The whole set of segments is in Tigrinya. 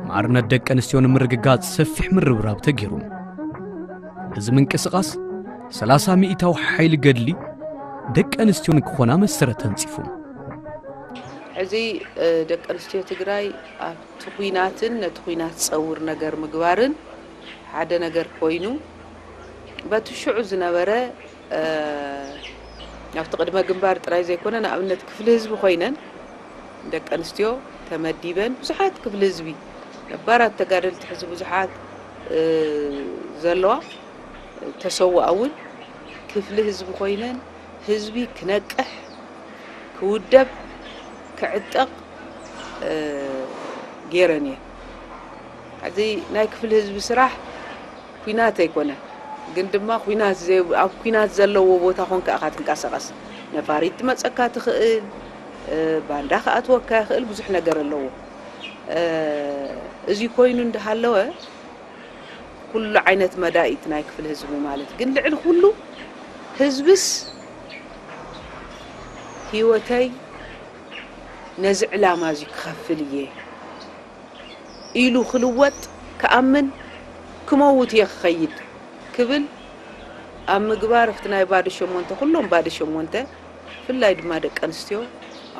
ማዕርነት ደቂ ኣንስትዮ ንምርግጋጽ ሰፊሕ ምርብራብ ተገይሩ። እዚ ምንቅስቓስ ሰላሳ ሚእታዊ ሓይሊ ገድሊ ደቂ ኣንስትዮ ንክኾና መሰረት ተንጺፉ። ሕዚ ደቂ ኣንስትዮ ትግራይ ኣብቲ ኲናትን ነቲ ኲናት ዝፀውር ነገር ምግባርን ሓደ ነገር ኮይኑ፣ በቲ ሽዑ ዝነበረ ኣብቲ ቅድመ ግንባር ጥራይ ዘይኮነ፣ ንኣብነት ክፍሊ ህዝቢ ኮይነን ደቂ ኣንስትዮ ተመዲበን ብዙሓት ክፍሊ ህዝቢ፣ ነባራት ተጋደልቲ ሕዚ ብዙሓት ዘለዋ፣ ተሰውኣ እውን ክፍሊ ህዝቢ ኮይነን ህዝቢ ክነቅሕ፣ ክውደብ፣ ክዕጠቕ ገይረን እየን። ሕዚ ናይ ክፍሊ ህዝቢ ስራሕ ኲናት ኣይኮነን፣ ግን ድማ ኲናት ዘይ- ኣብ ኲናት ዘለዎ ቦታ ኮንካ ኢኻ ትንቀሳቐስ። ነፋሪት ትመፀካ ትኽእል፣ ባንዳ ክኣትወካ ይኽእል፣ ብዙሕ ነገር ኣለዎ። እዚ ኮይኑ እንዳሃለወ ኩሉ ዓይነት መዳኢት ናይ ክፍሊ ህዝቢ ማለት ግን ልዕሊ ኩሉ ህዝብስ ህይወተይ ነዚ ዕላማ እዚ ክኸፍል እየ ኢሉ ክልወጥ ክኣምን ክመውት እየ ክኸይድ ክብል ኣብ ምግባር ኣብቲ ናይ ባዶ ሸሞንተ ኩሎም ባዶ ሸሞንተ ብፍላይ ድማ ደቂ ኣንስትዮ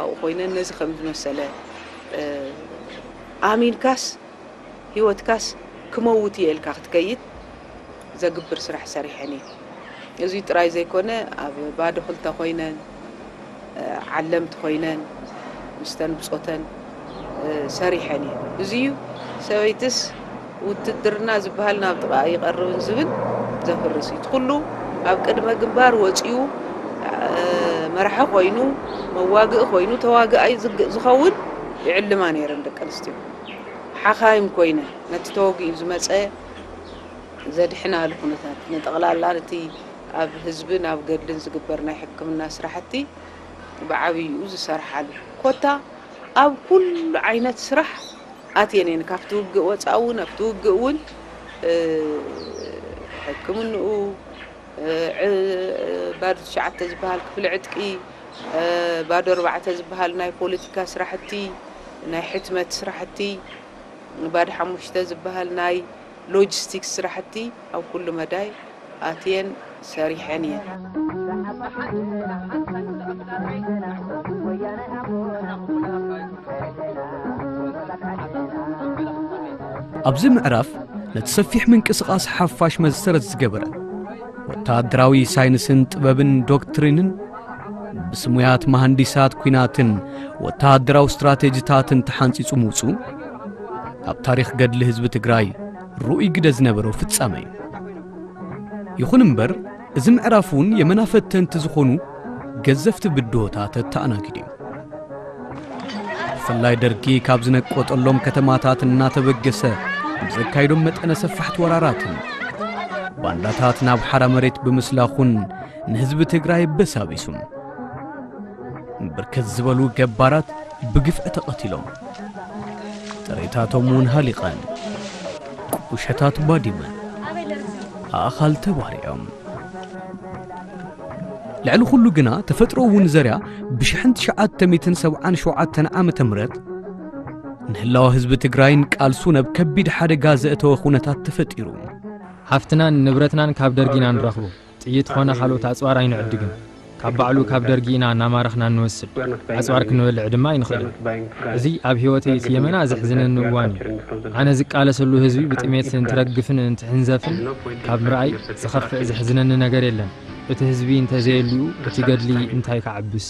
ኣብኡ ኮይነን ነዚ ከም ዝመሰለ ኣሚንካስ ህይወትካስ ክመውት እየ ኢልካ ክትከይድ ዘግብር ስራሕ ሰሪሐን እየ። እዚ ጥራይ ዘይኮነ ኣብ ባዶ ክልተ ኮይነን ዓለምቲ ኮይነን ምስተን ብፆተን ሰሪሐን እየ። እዚ እዩ ሰበይትስ ውትድርና ዝበሃል ናብ ጥቓ ይቐርብን ዝብል ዘፍርስ እዩ። እቲ ኩሉ ኣብ ቅድመ ግንባር ወፂኡ መራሒ ኮይኑ መዋግኢ ኮይኑ ተዋግኣይ ዝኸውን ይዕልማ ነይረን ደቂ ኣንስትዮ። ሓኻይም ኮይነ ነቲ ተወጊኡ ዝመፀ ዘድሕናሉ ኩነታት ንጠቕላላ ነቲ ኣብ ህዝብን ኣብ ገድልን ዝግበር ናይ ሕክምና ስራሕቲ ብዓብይኡ ዝሰርሓሉ ኮታ ኣብ ኩሉ ዓይነት ስራሕ ኣትየን እየን። ካብቲ ውግእ ወፃእ እውን ኣብቲ ውግእ እውን ሕክምንኡ ባዶ ትሽዓተ ዝበሃል ክፍሊ ዕጥቂ፣ ባዶ ኣርባዕተ ዝበሃል ናይ ፖለቲካ ስራሕቲ፣ ናይ ሕትመት ስራሕቲ፣ ባዶ ሓሙሽተ ዝበሃል ናይ ሎጂስቲክስ ስራሕቲ ኣብ ኩሉ መዳይ ኣትየን ሰሪሐን እየን። ኣብዚ ምዕራፍ ነቲ ሰፊሕ ምንቅስቓስ ሓፋሽ መሰረት ዝገበረ ወተሃደራዊ ሳይንስን ጥበብን ዶክትሪንን ብስሙያት መሃንዲሳት ኲናትን ወተሃደራዊ ስትራቴጂታትን ተሓንጺጹ ምውጹ ኣብ ታሪኽ ገድሊ ህዝቢ ትግራይ ርኡይ ግደ ዝነበሮ ፍጻመ እዩ። ይኹን እምበር እዚ ምዕራፍ እውን የመና ፈተንቲ ዝኾኑ ገዘፍቲ ብድሆታት ኣተኣናጊዱ እዩ። ብፍላይ ደርጊ ካብ ዝነቆጠሎም ከተማታት እናተበገሰ ብዘካይዶም መጠነ ሰፋሕቲ ወራራትን ባንዳታት ናብ ሓራ መሬት ብምስላኹን ንህዝቢ ትግራይ በሳቢሱ። ብርክት ዝበሉ ገባራት ብግፍዒ ተቐቲሎም፣ ጥሬታቶም እውን ሃሊቐን፣ ቁሸታት ባዲመን፣ ኣእኻል ተባሪዖም። ልዕሊ ኩሉ ግና ተፈጥሮ እውን ዘርያ ብሽሕን ትሽዓተ ሚእትን ሰብዓን ሸውዓተን ዓመተ ምህረት ንህላወ ህዝቢ ትግራይን ቃልሱን ኣብ ከቢድ ሓደጋ ዘእተወ ኩነታት ተፈጢሩ። ሃፍትናን ንብረትናን ካብ ደርጊ ኢና ንረኽቦ። ጥይት ኾነ ካልኦት ኣጽዋር ኣይንዕድግን። ካብ ባዕሉ ካብ ደርጊ ኢና እናማረኽና እንወስድ። ኣጽዋር ክንበልዕ ድማ ኣይንኽእልን። እዚ ኣብ ህይወተይ እቲ የመና ዘሕዝነኒ እዋን እዩ። ኣነ ዝቃለሰሉ ህዝቢ ብጥሜት እንትረግፍን እንትሕንዘፍን ካብ ምርኣይ ዝኸፍእ ዘሕዝነኒ ነገር የለን። እቲ ህዝቢ እንተዘየልዩ እቲ ገድሊ እንታይ ክዓብስ?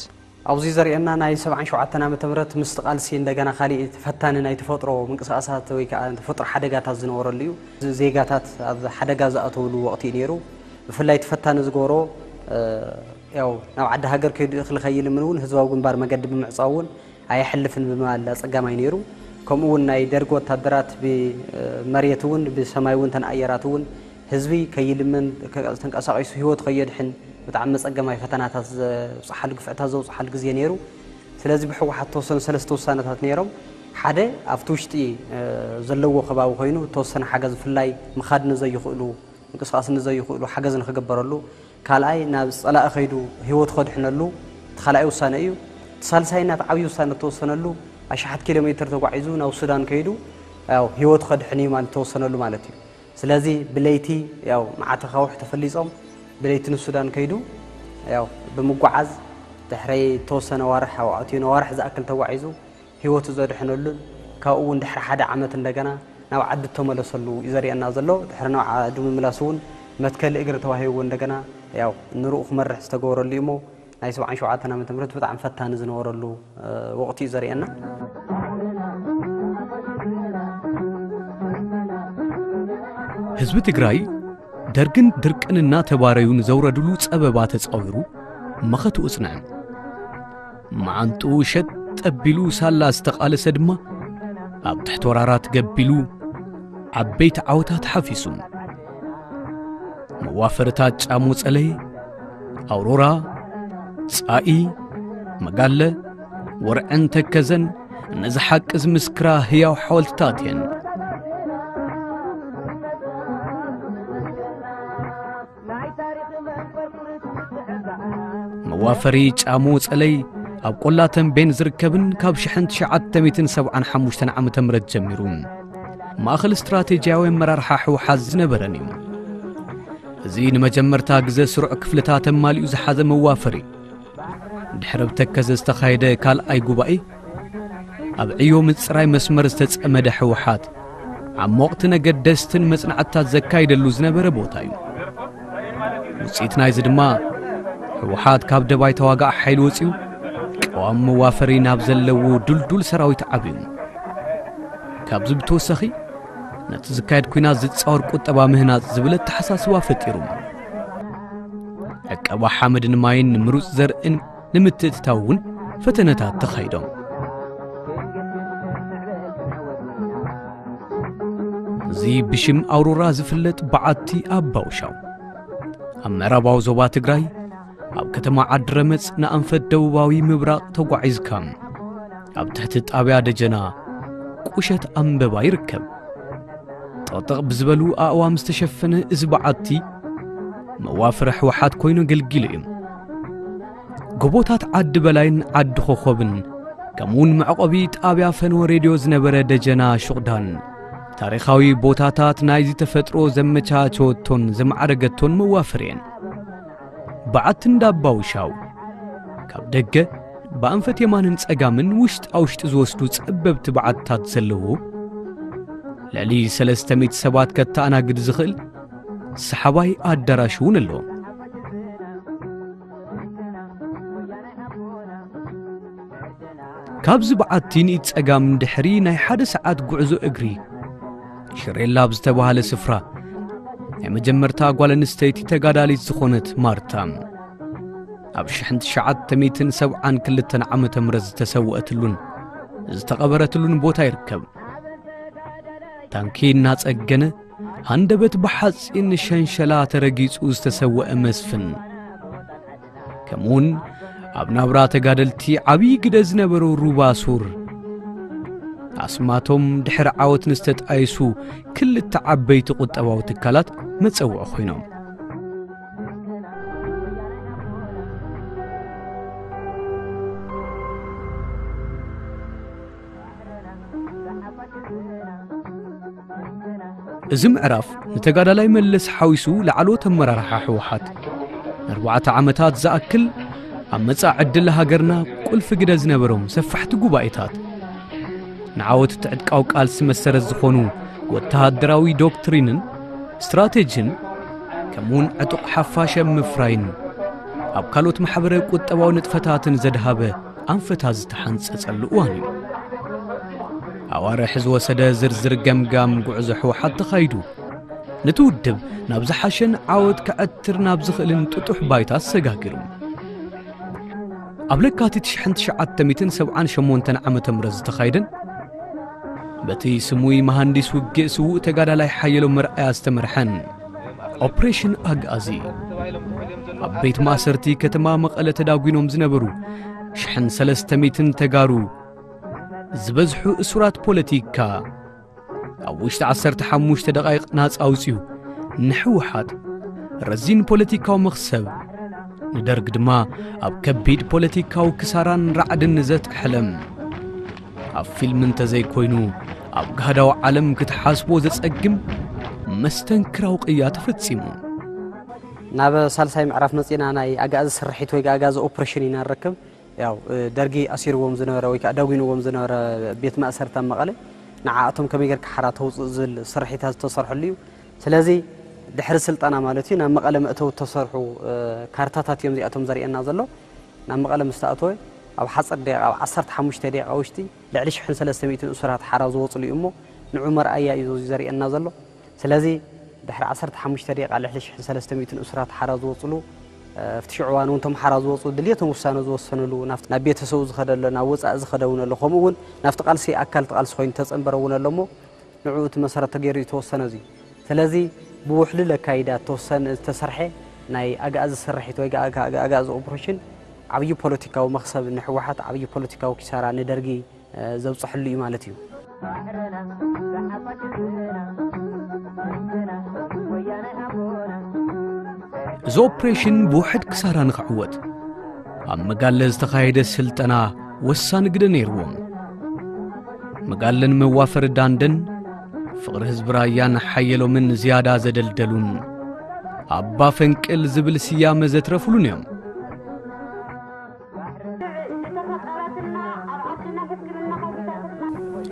ኣብዚ ዘርእየና ናይ ሰብዓን ሸውዓተን ዓመተ ምህረት ምስቲ ቃልሲ እንደገና ካሊእ ተፈታኒ ናይ ተፈጥሮ ምንቅስቃሳት ወይ ከዓ ተፈጥሮ ሓደጋታት ዝነበረሉ እዩ። ዜጋታት ኣብ ሓደጋ ዝኣተውሉ ወቕቲ እዩ ነይሩ። ብፍላይ ተፈታኒ ዝገብሮ ያው ናብ ዓዲ ሃገር ከይዱ እኽሊ ከይልምን እውን ህዝባዊ ግንባር መገዲ ብምዕፃው እውን ኣየሕልፍን ብምባል ኣፀጋማይ ነይሩ። ከምኡ እውን ናይ ደርጊ ወታደራት ብመሬት እውን ብሰማይ እውን ተን ኣየራት እውን ህዝቢ ከይልምን ተንቀሳቒሱ ህይወቱ ከየድሕን ብጣዕሚ መፀገማይ ፈተናታት ዘብፅሓሉ ግፍዕታት ዘብፅሓሉ ግዜ ነይሩ። ስለዚ ብህወሓት ተወሰኑ ሰለስተ ውሳነታት ነይሮም። ሓደ ኣብቲ ውሽጢ ዘለዎ ከባቢ ኮይኑ ተወሰነ ሓገዝ ብፍላይ ምኻድ ንዘይኽእሉ ምንቅስቃስ ንዘይኽእሉ ሓገዝ ንክግበረሉ፣ ካልኣይ ናብ ፀላኢ ከይዱ ህይወቱ ከድሕነሉ፣ እቲ ካልኣይ ውሳነ እዩ። እቲ ሳልሳይና እቲ ዓብዪ ውሳነ እተወሰነሉ ኣሽሓት ኪሎ ሜትር ተጓዒዙ ናብ ሱዳን ከይዱ ያው ህይወቱ ከድሕን እዩ ማለት እተወሰነሉ ማለት እዩ። ስለዚ ብለይቲ ያው መዓት ኣኻውሕ ተፈሊጾም ብለይቲ ንሱዳን ከይዱ ያው ብምጓዓዝ ድሕሪ እተወሰነ ዋርሕ ያው ኣትዩ ነዋርሕ ዝኣክል ተጓዒዙ ህይወቱ ዘድሕነሉን ካብኡ እውን ድሕሪ ሓደ ዓመት እንደገና ናብ ዓዲ እተመለሰሉ እዩ ዘርእየና ዘሎ። ድሕሪ ናብ ዓዱ ምምላስ እውን መትከሊ እግሪ ተዋሂብዎ እንደገና ያው ንርኡ ክመርሕ ዝተገበረሉ እዩ እሞ ናይ ሰብዓን ሸውዓተን ዓመተ ምህረት ብጣዕሚ ፈታኒ ዝነበረሉ ወቕቲ እዩ ዘርእየና። ህዝቢ ትግራይ ደርግን ድርቅን እናተባረዩ ንዘውረድሉ ጸበባ ተጻዊሩ መኸትኡ ጽንዐ። መዓንጥኡ ሸጥ ጠቢሉ ሳላ ዝተቓለሰ ድማ ኣብ ትሕቲ ወራራት ገቢሉ ዓበይቲ ዓወታት ሓፊሱ። መዋፈርታት ጫሞ ጸለይ፣ ኣውሮራ፣ ጻኢ፣ መጋለ፣ ወርዕን ተከዘን ነዚ ሓቂ ዝምስክራ ህያው ሓወልትታት እየን። መዋፈሪ ጫሞ ጸለይ ኣብ ቆላ ተንቤን ዝርከብን ካብ ሽሕን ትሽዓተ ሚእትን ሰብዓን ሓሙሽተን ዓመተ ምህረት ጀሚሩ ማእኸል ስትራቴጂያዊ ኣመራርሓ ህወሓት ዝነበረን እዩ። እዚ ንመጀመርታ ግዘ ስሩዕ ክፍልታት ኣማሊኡ ዝሓዘ መዋፈሪ ድሕሪ ኣብ ተከዘ ዝተኻየደ ካልኣይ ጉባኤ ኣብ ዕዮ ምፅራይ መስመር ዝተፀመደ ህወሓት ዓሞቕቲ ነገደስትን መፅናዕትታት ዘካይደሉ ዝነበረ ቦታ እዩ። ውፅኢት ናይዚ ድማ ህወሓት ካብ ደባይ ተዋጋእ ሓይሊ ወፂኡ ቀዋሚ መዋፈሪ ናብ ዘለዎ ዱልዱል ሰራዊት ዓብዩ። ካብዚ ብተወሳኺ ነቲ ዝካየድ ኲናት ዝፃወር ቁጠባ ምህናፅ ዝብል ኣተሓሳስባ ፈጢሩ። ዕቀባ ሓመድን ማይን ምሩፅ ዘርእን ንምትእትታው እውን ፈተነታት ተኻይዶም። እዚ ብሽም ኣውሮራ ዝፍለጥ በዓቲ ኣባውሻው ኣብ ምዕራባዊ ዞባ ትግራይ ኣብ ከተማ ዓዲ ረመፅ ንኣንፈት ደቡባዊ ምብራቕ ተጓዒዝካ ኣብ ትሕቲ ጣብያ ደጀና ቁሸት ኣንበባ ይርከብ። ጥቕጥቕ ብዝበሉ ኣእዋም ዝተሸፈነ እዚ በዓቲ መዋፍሪ ህወሓት ኮይኑ ኣገልጊሉ እዩ። ጎቦታት ዓዲ በላይን ዓዲ ኮኾብን ከምኡውን መዕቆቢ ጣብያ ፈንወ ሬድዮ ዝነበረ ደጀና ሹቕዳን ታሪኻዊ ቦታታት ናይዚ ተፈጥሮ ዘመቻቸወቶን ዘማዕረገቶን መዋፍር እየን። በዓቲ እንዳባውሻው ካብ ደገ ብኣንፈት የማንን ጸጋምን ውሽጣ ውሽጢ ዝወስዱ ጸበብቲ በዓትታት ዘለዎ ልዕሊ ሰለስተ ሚእቲ ሰባት ከተኣናግድ ዝኽእል ሰሓባይ ኣዳራሽ እውን ኣለዎ። ካብዚ በዓቲ ንኢድ ጸጋም ድሕሪ ናይ ሓደ ሰዓት ጉዕዞ እግሪ ሽሬላ ኣብ ዝተባህለ ስፍራ ናይ መጀመርታ ጓል ኣንስተይቲ ተጋዳሊት ዝኾነት ማርታ ኣብ ሽሕን ትሽዓተ ሚእትን ሰብዓን ክልተን ዓመተ ምህረት ዝተሰወአትሉን ዝተቐበረትሉን ቦታ ይርከብ። ታንኪ እናጸገነ ሃንደበት ብሓጺን ሸንሸላ ተረጊጹ ዝተሰወአ መስፍን ከምኡውን ኣብ ናብራ ተጋደልቲ ዓብዪ ግደ ዝነበሩ ሩባ ሱር ኣስማቶም ድሕሪ ዓወት ንዝተጣየሱ ክልተ ዓበይቲ ቁጠባዊ ትካላት መጸውዒ ኮይኖም። እዚ ምዕራፍ ንተጋዳላይ መለስ ሓዊሱ ላዕለዎት ኣመራርሓ ህወሓት ንኣርባዕተ ዓመታት ዝኣክል ኣብ መጻኢ ዕድል ሃገርና ቁልፊ ግደ ዝነበሮም ሰፋሕቲ ጉባኤታት ንዓወት እቲ ዕጥቃዊ ቃልሲ መሰረት ዝኾኑ ወተሃደራዊ ዶክትሪንን ስትራቴጂን ከምኡውን ዕጡቕ ሓፋሽ ኣብ ምፍራይን ኣብ ካልኦት ማሕበረ ቁጠባዊ ንጥፈታትን ዘድሃበ ኣንፈታት ዝተሓንጸጸሉ እዋን እዩ። ኣዋርሕ ዝወሰደ ዝርዝር ገምጋም ጉዕዞ ህወሓት ተኻይዱ ነቲ ውድብ ናብ ዝሓሸን ዓወት ከዐትር ናብ ዝኽእልን ጥጡሕ ባይታ ኣሰጋጊሩ። ኣብ ለካቲት ሽሕን ትሽዓተ ሚእትን ሰብዓን ሸሞንተን ዓመተ ምህረት ዝተኻይደን በቲ ስሙይ መሃንዲስ ውግእ ስዉእ ተጋዳላይ ሓየሎም መርኣያ ዝተመርሐን ኦፕሬሽን ኣግኣዚ ኣብ ቤት ማእሰርቲ ከተማ መቐለ ተዳጒኖም ዝነበሩ ሽሕን ሰለስተ ሚእትን ተጋሩ ዝበዝሑ እሱራት ፖለቲካ ኣብ ውሽጢ ዓሰርተ ሓሙሽተ ደቓይቕ ናጻ ኣውጺኡ ንሕወሓት ረዚን ፖለቲካዊ መኽሰብ ንደርግ ድማ ኣብ ከቢድ ፖለቲካዊ ክሳራን ራዕድን ዘጥሐለም፣ ኣብ ፊልም እንተዘይኮይኑ ኣብ ጋህዳዊ ዓለም ክትሓስቦ ዘጸግም መስተንክራዊ ቅያ ተፈጺሙ። ናብ ሳልሳይ ምዕራፍ መጺና። ናይ ኣጋዚ ስርሒት ወይ ኣጋዚ ኦፕሬሽን ኢና ንረክብ። ያው ደርጊ ኣሲርዎም ዝነበረ ወይ ከዓ ዳጒንዎም ዝነበረ ቤት ማእሰርታ መቐለ፣ ንዓኣቶም ከመይ ጌርካ ሓራ ተውፅእ ዝብል ስርሒታት ዝተሰርሐሉ እዩ። ስለዚ ድሕሪ ስልጠና ማለት እዩ ናብ መቐለ መእተዊ ዝተሰርሑ ካርታታት እዮም እዚኣቶም ዘርእየና ዘሎ። ናብ መቐለ ምስ ተኣተወ ኣብ ሓፂር ደቂቃ፣ ኣብ ዓሰርተ ሓሙሽተ ደቂቃ ውሽጢ ልዕሊ ሽሕን ሰለስተ ሚእትን እሱራት ሓራ ዝወፅሉ እዩ እሞ ንዑ መርኣያ እዩ ዘርእየና ዘሎ። ስለዚ ድሕሪ ዓሰርተ ሓሙሽተ ደቂቃ ልዕሊ ሽሕን ሰለስተ ሚእትን እሱራት ሓራ ዝወፅሉ፣ ኣብቲ ሽዑ እዋን እውን እቶም ሓራ ዝወፁ ድልየቶም ውሳነ ዝወሰንሉ፣ ናብ ቤተሰቡ ዝኸደ ኣሎ፣ ናብ ወፃኢ ዝኸደ እውን ኣሎ፣ ከምኡ እውን ናብቲ ቃልሲ ኣካል እቲ ቃልሲ ኮይኑ ተፀንበረ እውን ኣሎ እሞ ንዕኡ እቲ መሰረት ተገይሩ እዩ ተወሰነ። እዚ ስለዚ ብውሕሉል ኣካይዳ ተወሰነ ዝተሰርሐ ናይ ኣግኣዚ ስርሒት ወይ ኣግኣዚ ኦፕሬሽን ዓብዪ ፖለቲካዊ መኽሰብ ንህወሓት፣ ዓብዪ ፖለቲካዊ ኪሳራ ንደርጊ ዘብፅሐሉ እዩ ማለት እዩ። እዚ ኦፕሬሽን ብውሕድ ክሳራ ንኽዕወት ኣብ መጋለ ዝተኻየደ ስልጠና ወሳኒ ግደ ነይርዎም። መጋለን መዋፈሪ ዳንደን ፍቕሪ ህዝቢ ራያን ሓየሎምን ዝያዳ ዘደልደሉን ኣባ ፈንቅል ዝብል ስያመ ዘትረፍሉን እዮም።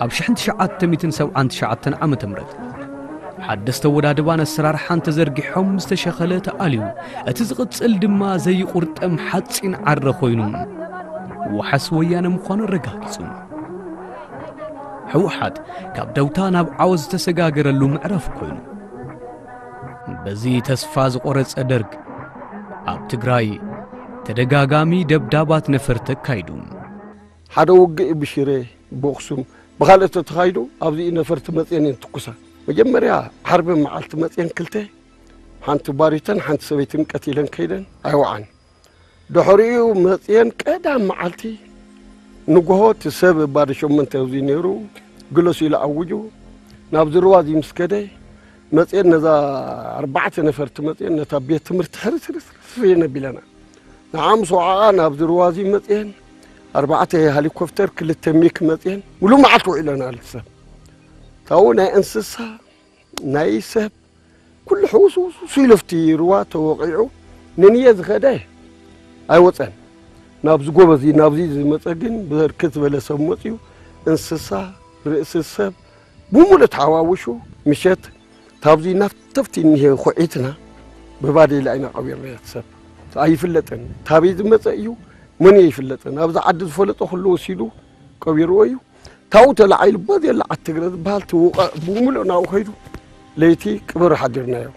ኣብ ሽሕን ትሽዓተ ሚእትን ሰብዓን ትሽዓተን ዓመተ ምህረት ሓደስቲ ኣወዳድባን ኣሰራርሓን ተዘርጊሖም ዝተሸኸለ ተኣልዩ፣ እቲ ዝቕጽል ድማ ዘይቑርጠም ሓጺን ዓረ ኮይኑ ዋሕስ ወያነ ምዃኑ ኣረጋጊጹ። ህወሓት ካብ ደውታ ናብ ዓወት ዝተሰጋገረሉ ምዕራፍ ኮይኑ፣ በዚ ተስፋ ዝቖረጸ ደርግ ኣብ ትግራይ ተደጋጋሚ ደብዳባት ነፈርቲ ኣካይዱ። ሓደ ውግእ ብሽረ፣ ብኣኽሱም፣ ብኻልኦት ተተኻይዱ ኣብዚ ነፈርቲ መፅየን እየን ትኩሳ። መጀመርያ ዓርቢ መዓልቲ መፅየን ክልተ፣ ሓንቲ ባሪተን ሓንቲ ሰበይትን ቀቲለን ከይደን ኣይወዓን። ድሕሪኡ መፅየን ቀዳም መዓልቲ ንጎሆ እቲ ሰብ ባዶ ሸሞንተ ኣብዚ ነይሩ ግለሱ ኢሉ ኣውጁ። ናብዚ ሩባ እዚ ምስ ከደ መፅየን ነዛ ኣርባዕተ ነፈርቲ መፅየን ነታ ቤት ትምህርቲ ሕርስርስርስ እየን ኣቢለና። ንዓ ምስ ወዓኣ ናብዚ ሩባ እዚ መፅየን ኣርባዕተ ሄሊኮፕተር ክልተ ሚክ መፅየን ሙሉእ መዓልቲ ውዒለና። ልሰብ ታው ናይ እንስሳ ናይ ሰብ ኩሉ ሕውስውስ ኢሉ ኣብቲ ሩባ ተወቒዑ። ንንየ ዝኸደ ኣይወፀን። ናብዚ ጎበዚ ናብዚ ዝመፀ ግን ብርክት ዝበለ ሰብ መፅዩ። እንስሳ፣ ርእሲ ሰብ ብሙሉእ ተሓዋውሹ። ምሸት ታብዚ ናፍተፍቲ እኒሄ ኩዒትና ብባዴላ ኢና ቀቢርና። እቲ ሰብ ኣይፍለጥን፣ ታበይ ዝመፀ እዩ መን ኣይፍለጥን። ኣብዚ ዓዲ ዝፈለጦ ኩሉ ወሲዱ ቀቢርዎ እዩ። ታው ተላዒሉ በዚ የለ ዓትግረ ዝበሃል ትውቐዕ ብሙሉእ ናብኡ ከይዱ። ለይቲ ቅብር ሓዲርናዮ።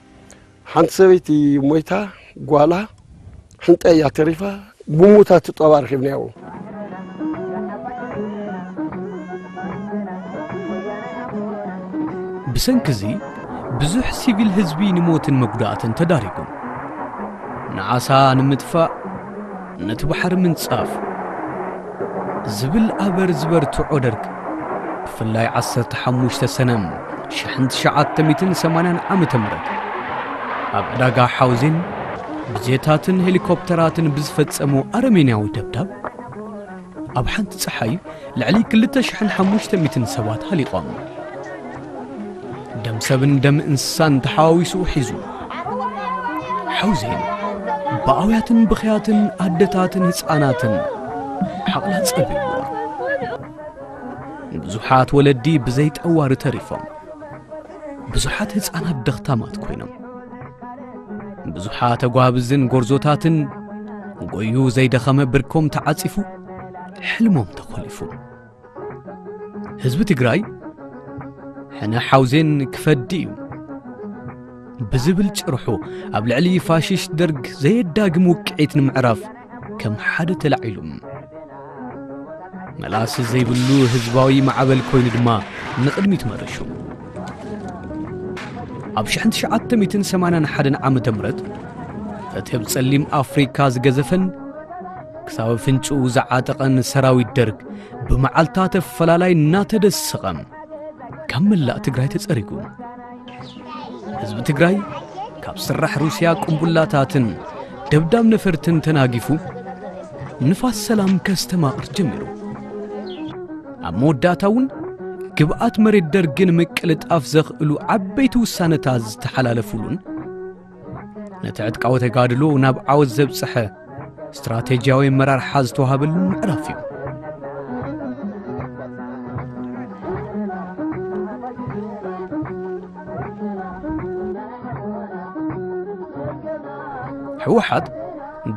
ሓንቲ ሰበይቲ ሞይታ፣ ጓላ ሕንጠ እያ ተሪፋ። ብሙታ ትጠባ ረኺብናዮ። ብሰንኪ እዚ ብዙሕ ሲቪል ህዝቢ ንሞትን መጉዳእትን ተዳሪጉ። ንዓሳ ንምጥፋእ ነቲ ባሕሪ ምንጻፍ ዝብል ኣበር ዝበርትዖ ደርግ፣ ብፍላይ ዓሰርተ ሓሙሽተ ሰነ ሽሕን ትሽዓተ ሚእትን ሰማንያን ዓመተ ምህረት ኣብ ዕዳጋ ሓውዜን ብጀታትን ሄሊኮፕተራትን ብዝፈጸሞ ኣረሜንያዊ ደብዳብ፣ ኣብ ሓንቲ ጸሓይ ልዕሊ ክልተ ሽሕን ሓሙሽተ ሚእትን ሰባት ሃሊቖም። ደም ሰብን ደም እንስሳን ተሓዋዊሱ ሒዙ። ሓውዜን ብኣውያትን ብኽያትን ኣደታትን ህፃናትን ሓቕላ ጸቢብዎ። ብዙሓት ወለዲ ብዘይ ጠዋሪ ተሪፎም። ብዙሓት ህፃናት ደኽታማት ኮይኖም። ብዙሓት ኣጓብዝን ጎርዞታትን ጎዩ ዘይደኸመ ብርኮም ተዓጺፉ፣ ሕልሞም ተኾሊፉ። ህዝቢ ትግራይ ሕነ ሓውዜን ክፈዲ እዩ ብዝብል ጭርሑ ኣብ ልዕሊ ፋሽስት ደርግ ዘየዳግም ውቅዒት ንምዕራፍ ከም ሓደ ተላዒሉ። መላሲ ዘይብሉ ህዝባዊ ማዕበል ኮይኑ ድማ ንቕድሚት መረሹ። ኣብ ሽሕን ትሽዓተ ሚእትን ሰማንያን ሓደን ዓመተ ምህረት እቲ ኣብ ጸሊም ኣፍሪካ ዝገዘፈን ክሳብ ኣፍንጭኡ ዝዓጠቐን ሰራዊት ደርግ ብመዓልታት ኣፈላላይ እናተደሰቐ ካብ መላእ ትግራይ ተጸሪጉ። ህዝቢ ትግራይ ካብ ስራሕ ሩስያ ቅንቡላታትን ደብዳብ ነፈርትን ተናጊፉ ንፋስ ሰላም ከስተማቕር ጀሚሩ። ኣብ መወዳእታ እውን ግብኣት መሬት ደርግን ምቅልጣፍ ዘኽእሉ ዓበይቲ ውሳነታት ዝተሓላለፉሉን ነቲ ዕጥቃዊ ተጋድሎ ናብ ዓወት ዘብጽሐ ስትራቴጂያዊ ኣመራርሓ ዝተዋሃበሉ ምዕራፍ እዩ። ህወሓት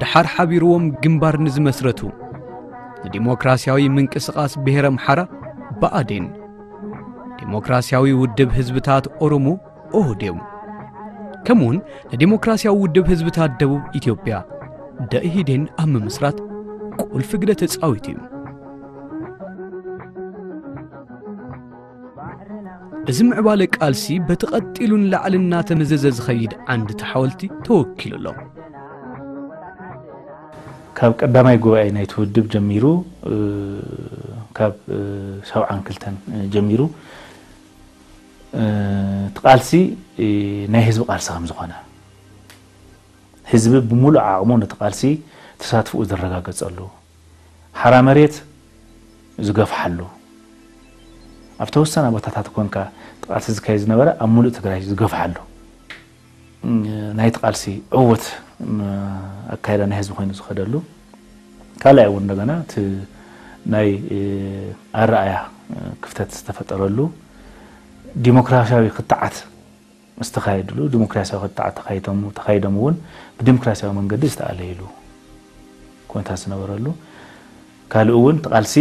ድሓር ሓቢርዎም ግንባር ንዝመስረቱ ንዲሞክራሲያዊ ምንቅስቓስ ብሄረ ኣምሓራ ብኣዴን፣ ዲሞክራሲያዊ ውድብ ህዝብታት ኦሮሞ ኦህዴው፣ ከምኡውን ንዲሞክራሲያዊ ውድብ ህዝብታት ደቡብ ኢትዮጵያ ደኢህዴን ኣብ ምምስራት ቁልፊ ግደ ተጻዊቱ እዩ። እዚ ምዕባለ ቃልሲ በቲ ቀጢሉ ንላዕሊ እናተመዘዘ ዝኸይድ ዓንዲ ተሓወልቲ ተወኪሉ ኣሎ። ካብ ቀዳማይ ጉባኤ ናይቲ ውድብ ጀሚሩ፣ እ፣ ካብ፣ እ፣ ሰብዓን ክልተን ጀሚሩ፣ እ፣ እቲ ቃልሲ፣ እ፣ ናይ ህዝቢ ቃልሲ ከም ዝኾነ፣ ህዝቢ ብምሉእ ዓቕሙ ነቲ ቃልሲ ተሳትፎኡ ዘረጋገጸሉ፣ ሓራ መሬት ዝገፍሓሉ፣ ኣብ ተወሰነ ቦታታት ኮንካ እቲ ቃልሲ ዝካየድ ዝነበረ ኣብ ሙሉእ ትግራይ ዝገፍሓሉ፣ እ፣ ናይቲ ቃልሲ ዕዉት፣ ም፣ ኣካይዳ ናይ ህዝቢ ኮይኑ ዝኸደሉ፣ ካልኣይ እውን እንደገና እቲ ናይ፣ እ፣ ኣረኣያ፣ እ፣ ክፍተት ዝተፈጠረሉ፣ ዲሞክራሲያዊ ክትዓት ዝተኻየድሉ፣ ዲሞክራሲያዊ ክትዓት ተኻይዶም፣ ተኻይዶም እውን ብዲሞክራሲያዊ መንገዲ ዝተኣለይሉ ኩነታት ዝነበረሉ፣ ካልእ እውን እቲ ቃልሲ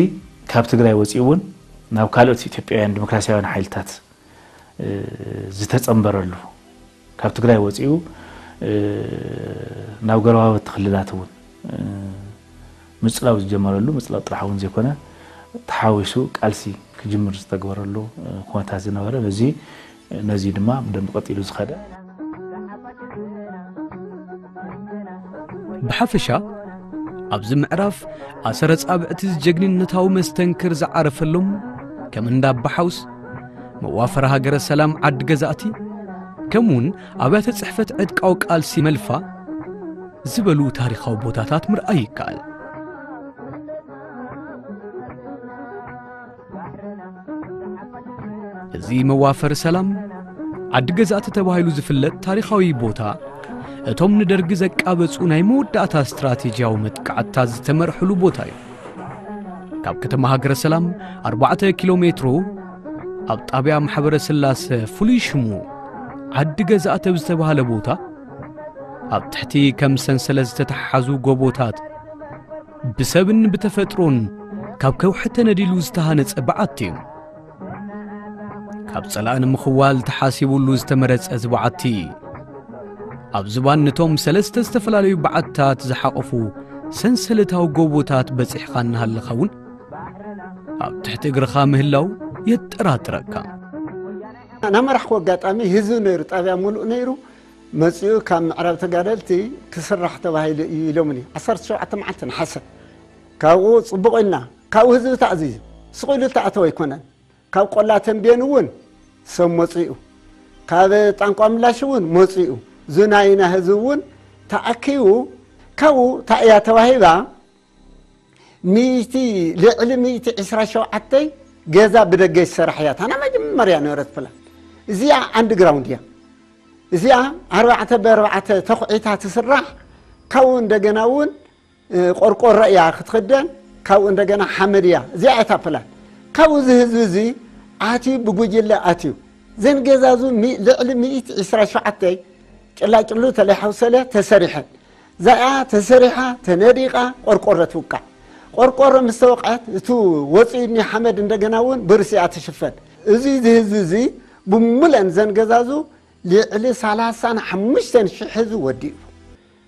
ካብ ትግራይ ወፂኡ እውን ናብ ካልኦት ኢትዮጵያውያን ዲሞክራሲያውያን ሓይልታት፣ እ፣ ዝተጸንበረሉ፣ ካብ ትግራይ ወፂኡ፣ እ፣ ናብ ጎረባብቲ ክልላት እውን፣ እ፣ ምጽላው ዝጀመረሉ፣ ምጽላው ጥራሕ እውን ዘይኮነ፣ ተሓዊሱ ቃልሲ ክጅምር ዝተግበረሉ፣ እ፣ ኩነታት ዝነበረ፣ በዚ፣ ነዚ ድማ ብደንቢ ቀጢሉ ዝኸደ። ብሓፈሻ፣ ኣብዚ ምዕራፍ ኣሰረ ጻብዕቲ ጀግንነታዊ መስተንክር ዝዓረፈሎም፣ ከም እንዳ ኣባሓውስ፣ መዋፈሪ ሃገረ ሰላም ዓዲ ገዛእቲ፣ ከምኡውን ኣብያተ ጽሕፈት ዕጥቃዊ ቃልሲ መልፋ ዝበሉ ታሪኻዊ ቦታታት ምርኣይ ይከኣል። እዚ መዋፈሪ ሰላም ዓዲ ገዛእቲ ተባሂሉ ዝፍለጥ ታሪኻዊ ቦታ፣ እቶም ንደርጊ ዘቃበጹ ናይ መወዳእታ ስትራቴጂያዊ መጥቃዕትታት ዝተመርሕሉ ቦታ እዩ። ካብ ከተማ ሃገረ ሰላም ኣርባዕተ ኪሎ ሜትሮ ኣብ ጣብያ ማሕበረ ስላሰ፣ ፍሉይ ሽሙ ዓዲ ገዛእቲ ኣብ ዝተባህለ ቦታ፣ ኣብ ትሕቲ ከም ሰንሰለት ዝተተሓሓዙ ጎቦታት፣ ብሰብን ብተፈጥሮን ካብ ከውሒ ተነዲሉ ዝተሃነጸ በዓቲ እዩ። ካብ ጸላኢ ንምኽዋል ተሓሲቡሉ ዝተመረጸ እዚ በዓቲ፣ ኣብ ዝባን ነቶም ሰለስተ ዝተፈላለዩ በዓትታት ዝሓቖፉ ሰንሰለታዊ ጎቦታት በጺሕኻ እናሃለኻ እውን፣ ኣብ ትሕቲ እግርኻ ምህላው የጠራጥረካ። ናመራሕኩ ኣጋጣሚ ህዝቢ ነይሩ፣ ጣብያ ሙሉእ ነይሩ። መጺኡ ካብ ምዕራብ ተጋደልቲ ክስራሕ ተባሂሉ እዩ ኢሎምኒ። ዓሰርተ ሸውዓተ መዓልቲ ነሓሰ። ካብኡ ጽቡቕ ኢልና፣ ካብኡ ህዝቢ ተኣዚዙ። ስቕ ኢሉ እተኣተወ ኣይኮነን። ካብ ቆላ ተንቤን እውን ሰብ መጺኡ። ካብ ጣንቋ ምላሽ እውን መጺኡ። ዝናይና ህዝቢ እውን ተኣኪቡ። ካብኡ እንታይ እያ ተዋሂባ? ሚእቲ፣ ልዕሊ ሚእቲ ዕስራ ሸውዓተ ገዛ ብደገ ይሰራሕ እያ። እታ ናይ መጀመርያ ነበረት ፕላን። እዚኣ ኣንድግራውንድ እያ። እዚኣ ኣርባዕተ ብኣርባዕተ ተኹዒታ ትስራሕ። ካብኡ እንደገና እውን፣ እ፣ ቆርቆሮ እያ ክትኽደን። ካብኡ እንደገና ሓመድ እያ። እዚኣ እታ ፕላን። ካብኡ እዚ ህዝቢ እዚ ኣትዩ፣ ብጉጅለ ኣትዩ። ዘን ገዛዙ ሚ-፣ ልዕሊ ሚእቲ ዕስራ ሸውዓተ ጭላጭሉ ተለይሓውሰለ ተሰሪሐን። እዚኣ ተሰሪሓ፣ ተነዲቓ፣ ቆርቆሮ ትውቃዕ። ቆርቆሮ ምስ ተወቅዐት፣ እቱ ወፂኡ እኒ ሓመድ እንደገና እውን ብርሲኣ ትሽፈን። እዚ እዚ ህዝቢ እዚ ብሙሉአን ዘን ገዛዙ ልዕሊ ሰላሳን ሓሙሽተን ሽሕ ህዝቢ ወዲኡ።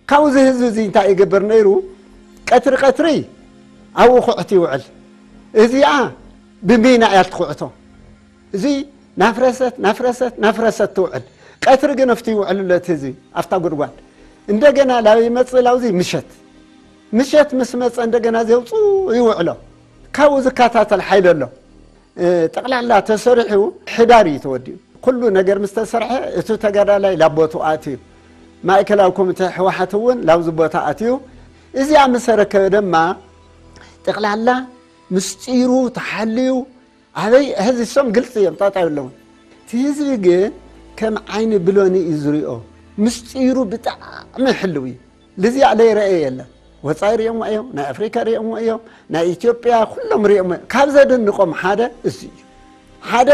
ካብኡ እዚ ህዝቢ እዚ እንታይ ይገብር ነይሩ? ቀትሪ ቀትሪ ኣብኡ ኩዕት ይውዕል። እዚኣ ብሚና እያ ትኩዕቶ። እዚ ናፍረሰት፣ ናፍረሰት፣ ናፍረሰት ትውዕል። ቀትሪ ግን ኣብቲ ይውዕል ኣሎ እቲ ህዝቢ፣ ኣብታ ጉድጓድ። እንደገና ላብ ይመጽእ ላውዚ ምሸት። ምሸት ምስ መጸ እንደገና ዘውጽኡ ይውዕሎ። ካብኡ ዝከታተል ሓይሊ ኣሎ። እ፣ ጠቕላላ ተሰሪሑ ሕዳር እዩ ተወዲኡ። ኩሉ ነገር ምስ ተሰርሐ፣ እቲ ተጋዳላይ ላቦቱ ኣትዩ። ማእከላዊ ኮሚቴ ህወሓት እውን ላብዚ ቦታ ኣትዩ። እዚኣ ምስ ኣረከበ ድማ ጠቕላላ ምስጢሩ ተሓልዩ ኣበይ ሕዚ እሶም ግልፂ እዮም፣ ጣጣ የለውን። እቲ ህዝቢ ግን ከም ዓይኒ ብሎኒ እዩ ዝሪኦ። ምስጢሩ ብጣዕሚ ሕልው እዩ። ልዚኣ ለይረአየ የለን። ወፃኢ ሪኦምዎ እዮም፣ ናይ ኣፍሪካ ሪኦምዎ እዮም፣ ናይ ኢትዮጵያ ኩሎም ሪኦምዎ እዮም። ካብ ዘደንቆም ሓደ እዚ እዩ። ሓደ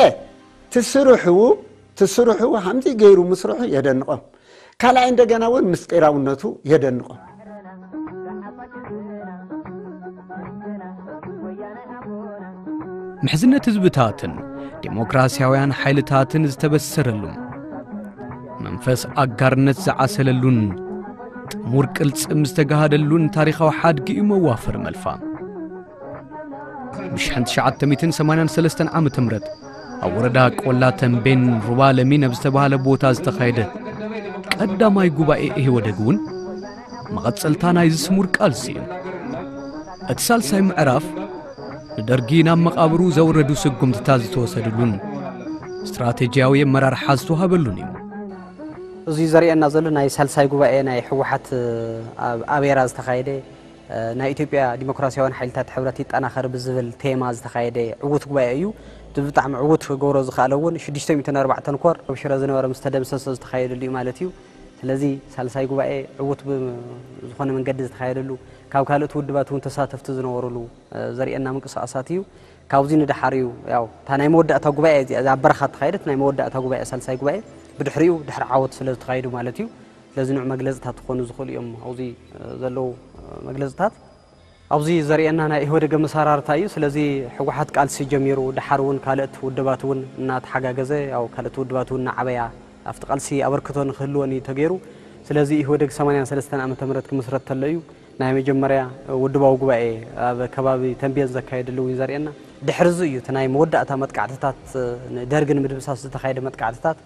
ትስርሑ ትስርሑ ከምዚ ገይሩ ምስርሑ የደንቆም። ካልኣይ እንደገና እውን ምስጢራውነቱ የደንቆም። ምሕዝነት ህዝብታትን ዴሞክራሲያውያን ሓይልታትን ዝተበሰረሉን መንፈስ ኣጋርነት ዝዓሰለሉን ጥሙር ቅልጽም ዝተጋሃደሉን ታሪኻዊ ሓድጊ እዩ መዋፈር መልፋ። ብ1983 ዓመተ ምህረት ኣብ ወረዳ ቆላ ተንቤን ሩባ ለሚን ኣብ ዝተባህለ ቦታ ዝተኻየደ ቀዳማይ ጉባኤ ኢህወደግ እውን መቐጸልታ ናይዚ ስሙር ቃልሲ እዩ። እቲ ሳልሳይ ምዕራፍ ንደርጊ ናብ መቓብሩ ዘውረዱ ስጉምትታት ዝተወሰድሉን ስትራቴጂያዊ ኣመራርሓ ዝተዋሃበሉን እዩ። እዚ ዘርእየና ዘሎ ናይ ሳልሳይ ጉባኤ ናይ ህወሓት ኣብ ኣቤራ ዝተኻየደ ናይ ኢትዮጵያ ዲሞክራሲያውያን ሓይልታት ሕብረት ይጠናኸር ብዝብል ቴማ ዝተኻየደ ዕዉት ጉባኤ እዩ። እቲ ብጣዕሚ ዕዉት ክገብሮ ዝኸኣለ እውን ሽዱሽተ ሚእትን ኣርባዕተን ኮር ኣብ ሽረ ዝነበረ ምስ ተደምሰሰ ዝተኻየደሉ እዩ ማለት እዩ። ስለዚ ሳልሳይ ጉባኤ ዕዉት ዝኾነ መንገዲ ዝተኻየደሉ ካብ ካልኦት ውድባት እውን ተሳተፍቲ ዝነበሩሉ ዘርእየና ምንቅስቃሳት እዩ። ካብዚ ንደሓር እዩ ያው እታ ናይ መወዳእታ ጉባኤ እዚኣ ኣብ በረኻ እተኻየደት ናይ መወዳእታ ጉባኤ ሳልሳይ ጉባኤ ብድሕሪኡ ድሕሪ ዓወት ስለ ዝተኻየዱ ማለት እዩ። ስለዚ ንዑ መግለፅታት ክኾኑ ዝኽእሉ እዮም ኣብዚ ዘለዉ መግለፅታት። ኣብዚ ዘርእየና ናይ ኢህወደግ ኣመሰራርታ እዩ። ስለዚ ህወሓት ቃልሲ ጀሚሩ ደሓር እውን ካልእት ውድባት እውን እናተሓጋገዘ ያው ካልእት ውድባት እውን እናዓበያ ኣብቲ ቃልሲ ኣበርክቶ ንክህልወን እዩ ተገይሩ። ስለዚ ኢህወደግ ሰማንያን ሰለስተን ዓመተ ምህረት ክምስረት ተሎ እዩ ናይ መጀመርያ ውድባዊ ጉባኤ ኣብ ከባቢ ተንቤን ዘካየደሉ እውን ዘርእየና። ድሕሪ እዚ እዩ እቲ ናይ መወዳእታ መጥቃዕትታት ንደርጊ ንምድምሳስ ዝተኻየደ መጥቃዕትታት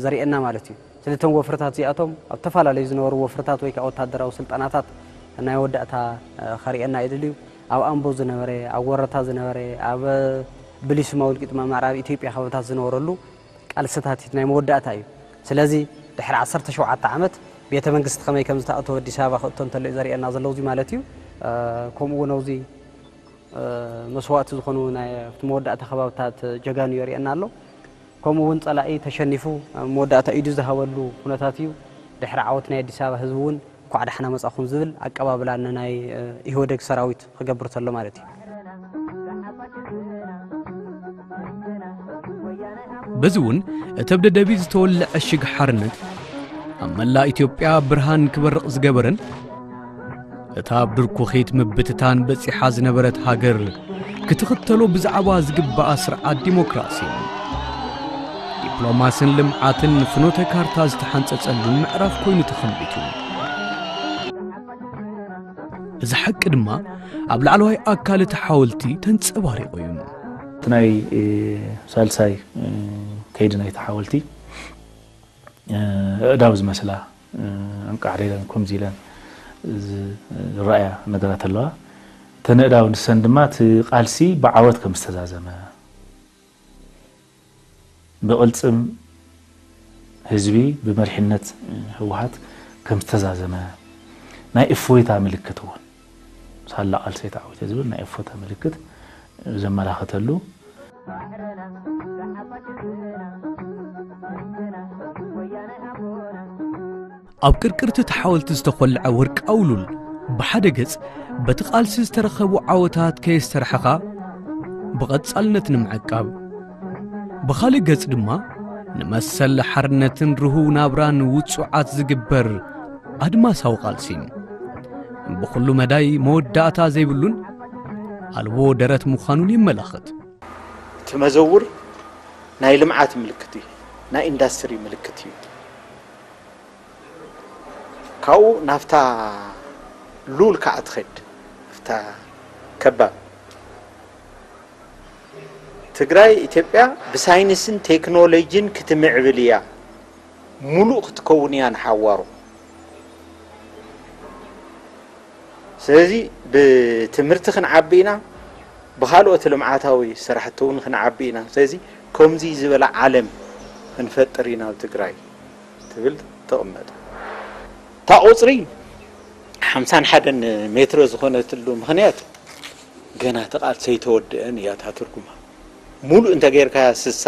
ዘርእየና ማለት እዩ። ስለቶም ወፍርታት እዚኣቶም ኣብ ተፈላለዩ ዝነበሩ ወፍርታት ወይ ከዓ ወታደራዊ ስልጠናታት ናይ ወዳእታ ከርእየና ይደልዩ። ኣብ ኣምቦ ዝነበረ፣ ኣብ ወረታ ዝነበረ፣ ኣብ ብሊስማ ውልቂጥማ ምዕራብ ኢትዮጵያ ከባብታት ዝነበረሉ ቃልስታት ናይ መወዳእታ እዩ። ስለዚ ድሕሪ ዓሰርተ ሸውዓተ ዓመት ቤተ መንግስቲ ከመይ ከም ዝተኣተወ ኣዲስ ኣበባ ክእቶ እንተሎ እዩ ዘርእየና ዘሎ እዚ ማለት እዩ። ከምኡ እውን ኣብዚ መስዋእቲ ዝኾኑ ናይ ኣብቲ መወዳእታ ከባብታት ጀጋኑ የርእየና ኣሎ። ከምኡ እውን ጸላኢ ተሸኒፉ መወዳእታ ኢዱ ዝሃበሉ ኩነታት እዩ። ድሕሪ ዓወት ናይ ኣዲስ ኣበባ ህዝቢ እውን እንኳዕ ዳሕና መጻኹም ዝብል ኣቀባብላ ንናይ ኢህወደግ ሰራዊት ክገብር ተሎ ማለት እዩ። በዚ እውን እቲ ኣብ ደደቢት ዝተወልዐ ሽግ ሓርነት ኣብ መላእ ኢትዮጵያ ብርሃን ክበርቕ ዝገበረን እታ ኣብ ድርኩኺት ምብትታን በጺሓ ዝነበረት ሃገር ክትኽተሎ ብዛዕባ ዝግባኣ ስርዓት ዲሞክራሲ፣ ዲፕሎማስን ልምዓትን ፍኖተ ካርታ ዝተሓንጸጸሉን ምዕራፍ ኮይኑ ተኸንቢቱ። እዚ ሓቂ ድማ ኣብ ላዕለዋይ ኣካል እቲ ሓወልቲ ተንጸባሪቑ እዩ። እቲ ናይ ሳልሳይ ከይዲ ናይቲ ሓወልቲ ኣእዳው ዝመስላ ኣንቃዕሪረን ከምዚ ኢለን ዝረኣያ ነገራት ኣለዋ። እተን ኣእዳው ንሰን ድማ እቲ ቃልሲ ብዓወት ከም ዝተዛዘመ ብቕልጽም ህዝቢ ብመሪሕነት ህወሓት ከም ዝተዛዘመ ናይ እፎይታ ምልክት እውን ሳላ ቃልሰይ ተዓዊተ ዝብል ናይ እፎይታ ምልክት ዘመላኸተሉ ኣብ ቅርቅርቲ እቲ ሓወልቲ ዝተኾልዐ ወርቃዊ ሉል ብሓደ ገጽ በቲ ቃልሲ ዝተረኸቡ ዓወታት ከየስተርሐኻ ብቐጻልነት ንምዕቃብ፣ ብኻልእ ገጽ ድማ ንመሰል ሓርነትን ርሁው ናብራን ውጹዓት ዝግበር ኣድማሳዊ ቃልሲ ብኹሉ መዳይ መወዳእታ ዘይብሉን ኣልቦ ደረት ምዃኑን የመላኽት። እቲ መዘውር ናይ ልምዓት ምልክት እዩ፣ ናይ ኢንዳስትሪ ምልክት እዩ። ካብኡ ናብታ ሉል ከዓ ትኸድ፣ ናብታ ከባብ ትግራይ ኢትዮጵያ ብሳይንስን ቴክኖሎጂን ክትምዕብል እያ፣ ሙሉእ ክትከውን እያ ንሓዋሩ። ስለዚ ብትምህርቲ ክንዓቢ ኢና፣ ብኻልኦት ልምዓታዊ ስራሕቲ እውን ክንዓቢ ኢና። ስለዚ ከምዚ ዝበለ ዓለም ክንፈጥር ኢና ኣብ ትግራይ ትብል ተቐመጠ። እታ ቁፅሪ ሓምሳን ሓደን ሜትሮ ዝኾነትሉ ምኽንያት፣ ገና እቲ ቃልሲ ኣይተወደአን እያ እታ ትርጉማ። ሙሉእ እንተጌርካያ፣ ስሳ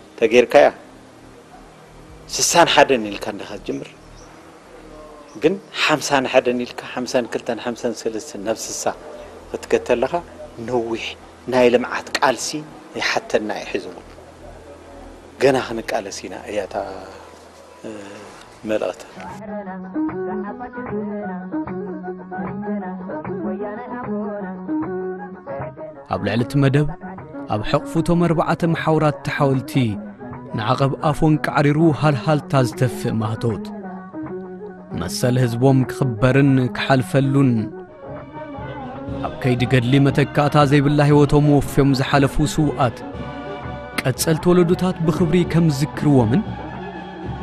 እንተጌርካያ፣ ስሳን ሓደን ኢልካ እንዲኻ ትጅምር። ግን ሓምሳን ሓደን ኢልካ፣ ሓምሳን ክልተን ሓምሳን ሰለስተን ናብ ስሳ ክትከድ ተለኻ፣ ነዊሕ ናይ ልምዓት ቃልሲ ይሓተና እዩ። ሕዚ እውን ገና ክንቃለስ ኢና እያ እታ፣ እ፣ መልእኽቲ። ኣብ ልዕሊ እቲ መደብ፣ ኣብ ሕቕፉ እቶም ኣርባዕተ መሓውራት እቲ ሓወልቲ፣ ንዓቐብ ኣፎን ቃዕሪሩ ሃልሃልታ ዝተፍእ ማህቶት፣ መሰል ህዝቦም ክኽበርን ክሓልፈሉን፣ ኣብ ከይዲ ገድሊ መተካእታ ዘይብላ ህይወቶም ወፍዮም ዝሓለፉ ስውኣት፣ ቀጸልቲ ወለዶታት ብኽብሪ ከም ዝዝክርዎምን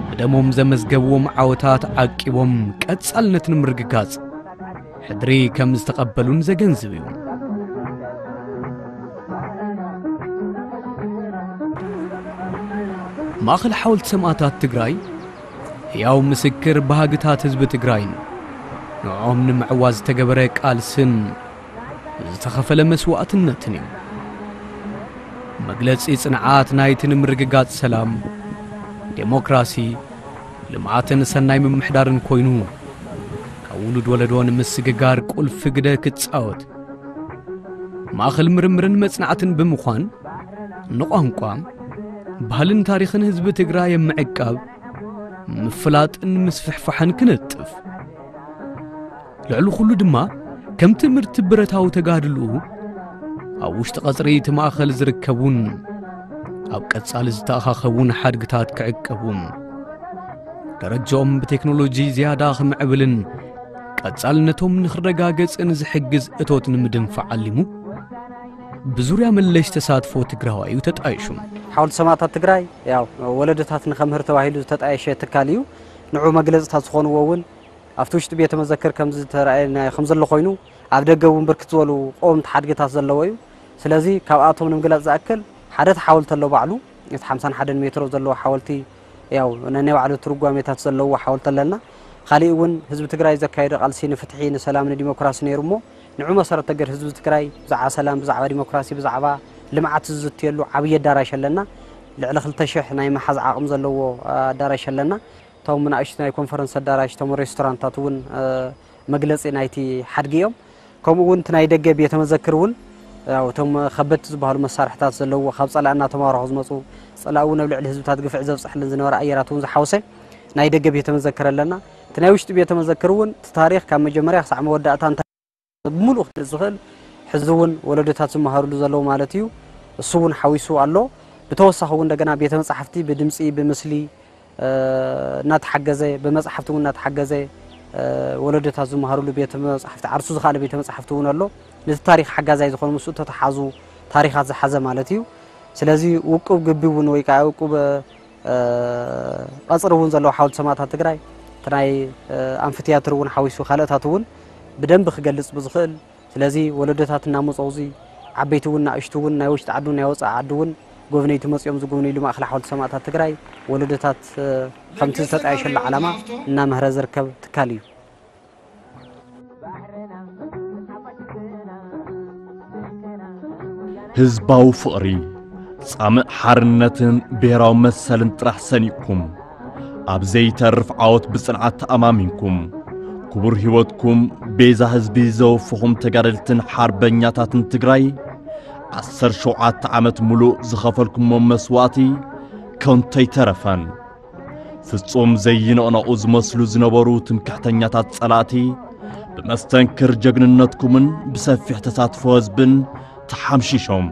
ብደሞም ዘመዝገብዎም ዓወታት ዓቂቦም ቀጻልነት ንምርግጋጽ ሕድሪ ከም ዝተቐበሉን ዘገንዝብ እዩ። ማእኸል ሓወልቲ ሰማእታት ትግራይ ህያው ምስክር ባህግታት ህዝቢ ትግራይን ንዕኦም ንምዕዋዝ ዝተገበረ ቃልስን ዝተኸፈለ መስዋእትነትን እዩ። መግለጺ ጽንዓት ናይቲ ንምርግጋጽ ሰላም፣ ዴሞክራሲ፣ ልምዓትን ሰናይ ምምሕዳርን ኮይኑ፣ ካብ ውሉድ ወለዶ ንምስግጋር ቁልፊ ግደ ክጻወት፣ ማእኸል ምርምርን መጽናዕትን ብምዃን፣ ንቋንቋ፣ ባህልን ታሪኽን ህዝቢ ትግራይ ኣብ ምዕቃብ፣ ምፍላጥን ምስፍሕፋሕን ክነጥፍ፣ ልዕሊ ኩሉ ድማ ከም ትምህርቲ ብረታዊ ተጋድልኡ ኣብ ውሽጢ ቀጽሪ እቲ ማእኸል ዝርከቡን ኣብ ቀጻሊ ዝተኣኻኸቡን ሓድግታት ክዕቀቡን ደረጃኦም ብቴክኖሎጂ ዝያዳ ክምዕብልን ቀጻልነቶም ንኽረጋገጽን ዝሕግዝ እቶት ንምድንፋዕ ዓሊሙ ብዙርያ መለሽ ተሳትፎ ትግራዋይ እዩ ተጣይሹ። ሓወልቲ ሰማእታት ትግራይ ያው ወለዶታት ንኸምህር ተባሂሉ ዝተጣየሸ ትካል እዩ። ንዑ መግለፅታት ዝኾንዎ እውን ኣብቲ ውሽጢ ቤተ መዘክር ከም ዝተረኣየ ከም ዘሎ ኮይኑ ኣብ ደገ እውን ብርክት ዝበሉ ቀወምቲ ሓድግታት ዘለዎ እዩ። ስለዚ ካብኣቶም ንምግላፅ ዝኣክል ሓደ እቲ ሓወልቲ ኣሎ ባዕሉ እቲ ሓምሳን ሓደን ሜትሮ ዘለዎ ሓወልቲ ያው ነናይ ባዕሉ ትርጓሜታት ዘለዎ ሓወልቲ ኣለና። ካሊእ እውን ህዝቢ ትግራይ ዘካየዶ ቃልሲ ንፍትሒ ንሰላም ንዲሞክራሲ ነይሩ እሞ ንዑ መሰረት ተገር ህዝቢ ትግራይ ብዛዕባ ሰላም ብዛዕባ ዲሞክራሲ ብዛዕባ ልምዓት ዝዝትየሉ ዓብዪ ኣዳራሽ ኣለና። ልዕሊ ክልተ ሽሕ ናይ ምሓዝ ዓቕሚ ዘለዎ ኣዳራሽ ኣለና። እቶም ንኣሽቱ ናይ ኮንፈረንስ ኣዳራሽ እቶም ሬስቶራንታት እውን መግለፂ ናይቲ ሓድጊ እዮም። ከምኡ እውን እቲ ናይ ደገ ቤተ መዘክር እውን ያው እቶም ከበድቲ ዝበሃሉ መሳርሕታት ዘለዎ ካብ ፀላእ እናተማረኹ ዝመፁ ፀላእ እውን ኣብ ልዕሊ ህዝብታት ግፍዒ ዘብፅሐለን ዝነበረ ኣየራት እውን ዝሓወሰ ናይ ደገ ቤተ መዘክር ኣለና። እቲ ናይ ውሽጢ ቤተ መዘክር እውን እቲ ታሪክ ካብ መጀመርያ ክሳዕ መወዳእታ እንታይ ብምሉእ ክገልፅ ዝኽእል ሕዚ እውን ወለዶታት ዝመሃርሉ ዘለዉ ማለት እዩ። እሱ እውን ሓዊሱ ኣሎ። ብተወሳኺ እውን እንደገና ቤተ መፃሕፍቲ ብድምፂ ብምስሊ እናተሓገዘ ብመፅሓፍቲ እውን እናተሓገዘ ወለዶታት ዝመሃርሉ ቤተ መፃሕፍቲ ዓርሱ ዝኸኣለ ቤተ መፃሕፍቲ እውን ኣሎ። ነቲ ታሪክ ሓጋዛይ ዝኾኑ ምስኡ ተተሓዙ ታሪካት ዝሓዘ ማለት እዩ። ስለዚ ውቁብ ግቢ እውን ወይ ከዓ ውቁብ ቀፅሪ እውን ዘለዎ ሓወልቲ ሰማእታት ትግራይ እቲ ናይ ኣምፊትያትር እውን ሓዊሱ ካልኦታት እውን ብደንቢ ክገልፅ ብዝኽእል ስለዚ ወለዶታት እናመፀው እዚ ዓበይቲ እውን ንኣሽቱ እውን ናይ ውሽጢ ዓዲ ናይ ወፃኢ ዓዲ እውን ጎብነይቲ መፂኦም ዝጉብንይሉ ማእኸል ሓወልቲ ሰማእታት ትግራይ ወለዶታት ከምቲ ዝተጣየሸሉ ዓላማ እናመህረ ዝርከብ ትካል እዩ። ህዝባዊ ፍቕሪ፣ ጻምእ ሓርነትን ብሄራዊ መሰልን ጥራሕ ሰኒቕኩም፣ ኣብ ዘይተርፍ ዓወት ብጽንዓት ተኣማሚንኩም፣ ክቡር ህይወትኩም ቤዛ ህዝቢ ዘወፈኹም ተጋደልትን ሓርበኛታትን ትግራይ፣ ዓሰርተ ሸውዓተ ዓመት ሙሉእ ዝኸፈልኩሞ መስዋእቲ ከንቱ ኣይተረፈን። ፍጹም ዘይንቕነቑ ዝመስሉ ዝነበሩ ትምክሕተኛታት ጸላእቲ፣ ብመስተንክር ጀግንነትኩምን ብሰፊሕ ተሳትፎ ህዝብን ተሓምሺሾም፣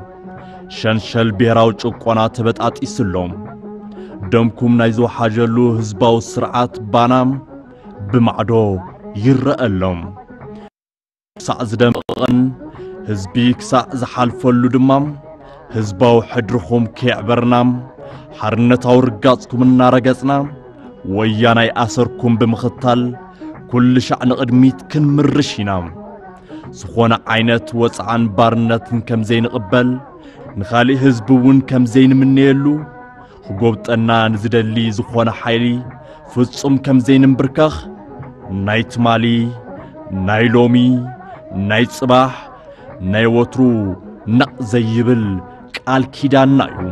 ሸንሸል ብሄራዊ ጭቆና ተበጣጢስሎም። ደምኩም ናይ ዝወሓጀሉ ህዝባዊ ስርዓት ባና ብማዕዶ ይረኣሎም። ክሳዕ ዝደምቕን ህዝቢ ክሳዕ ዝሓልፈሉ ድማ፣ ህዝባዊ ሕድርኹም ከየዕበርና፣ ሓርነታዊ ርጋጽኩም እናረገጽና፣ ወያናይ ኣሰርኩም ብምኽታል፣ ኩሉ ሻዕ ንቕድሚት ክንምርሽ ኢና። ዝኾነ ዓይነት ወጽዓን ባርነትን ከም ዘይንቕበል፣ ንኻሊእ ህዝቢ እውን ከም ዘይንምነየሉ፣ ክጎብጠና ንዝደሊ ዝኾነ ሓይሊ ፍጹም ከም ዘይንምብርከኽ፣ ናይ ትማሊ፣ ናይ ሎሚ፣ ናይ ጽባሕ፣ ናይ ወትሩ ነቕ ዘይብል ቃል ኪዳንና እዩ።